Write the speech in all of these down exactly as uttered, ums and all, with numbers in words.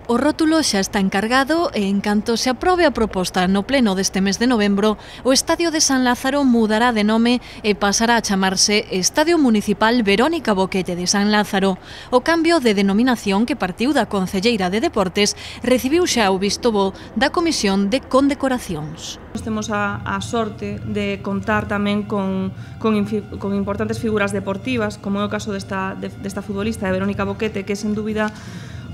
O rótulo xa está encargado e, en canto se aprobe a proposta no pleno deste mes de novembro, o Estadio de San Lázaro mudará de nome e pasará a chamarse Estadio Municipal Verónica Boquete de San Lázaro. O cambio de denominación que partiu da Concelleira de Deportes recibiu xa o visto bo da Comisión de Condecoracións. Temos a, a sorte de contar tamén con, con, con importantes figuras deportivas, como é o caso desta, de, desta futbolista de Verónica Boquete, que é sen dúbida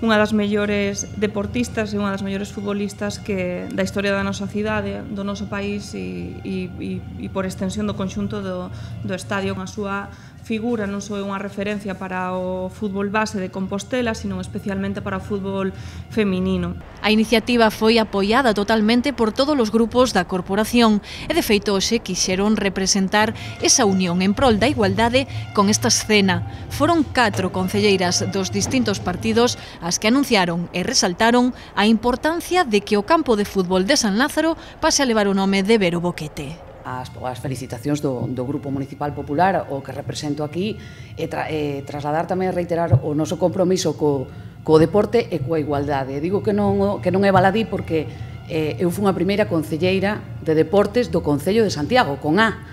unha das mellores deportistas e unha das mellores futbolistas que da historia da nosa cidade, do noso país e, e, e por extensión do conxunto do, do estadio. A súa figura non só é unha referencia para o fútbol base de Compostela, sino especialmente para o fútbol feminino. A iniciativa foi apoiada totalmente por todos os grupos da corporación e, de feito, hoxe quixeron representar esa unión en prol da igualdade con esta escena. Foron catro concelleiras dos distintos partidos as que anunciaron e resaltaron a importancia de que o campo de fútbol de San Lázaro pase a levar o nome de Vero Boquete. As, as felicitacións do, do Grupo Municipal Popular, o que represento aquí, e, tra, e trasladar tamén e reiterar o noso compromiso co, co deporte e coa igualdade. Digo que non, que non é baladí porque eh, eu fui a primeira concelleira de deportes do Concello de Santiago, con A.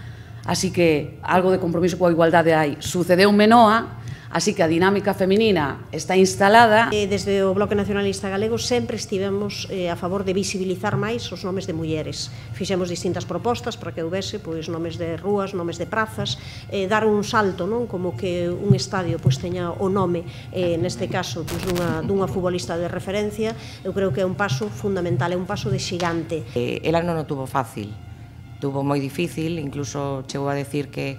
Así que algo de compromiso coa igualdade hai. Sucedeu en Menoa, así que a dinámica feminina está instalada. Desde o Bloque Nacionalista Galego sempre estivemos a favor de visibilizar máis os nomes de mulleres. Fixemos distintas propostas para que houvese pois, nomes de rúas, nomes de prazas, eh, dar un salto, non, como que un estadio pois, teña o nome, eh, neste caso, pois, dunha, dunha futbolista de referencia. Eu creo que é un paso fundamental, é un paso de xigante. Eh, ela non o tuvo fácil, tuvo moi difícil, incluso chegou a decir que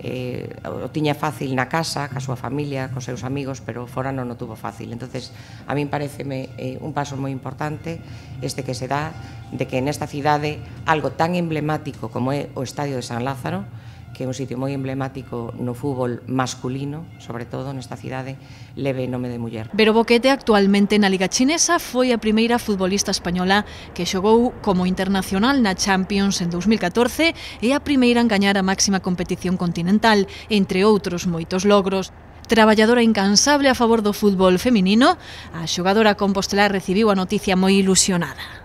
Eh, o tiña fácil na casa, ca súa familia, cos seus amigos, pero fora non o tuvo fácil. Entonces, a min pareceme eh, un paso moi importante este que se dá de que nesta cidade algo tan emblemático como é o Estadio de San Lázaro, que é un sitio moi emblemático no fútbol masculino, sobre todo nesta cidade, leve nome de muller. Vero Boquete, actualmente na Liga Chinesa, foi a primeira futbolista española que xogou como internacional na Champions en dous mil catorce e a primeira en gañar a máxima competición continental, entre outros moitos logros. Traballadora incansable a favor do fútbol feminino, a xogadora compostelar recibiu a noticia moi ilusionada.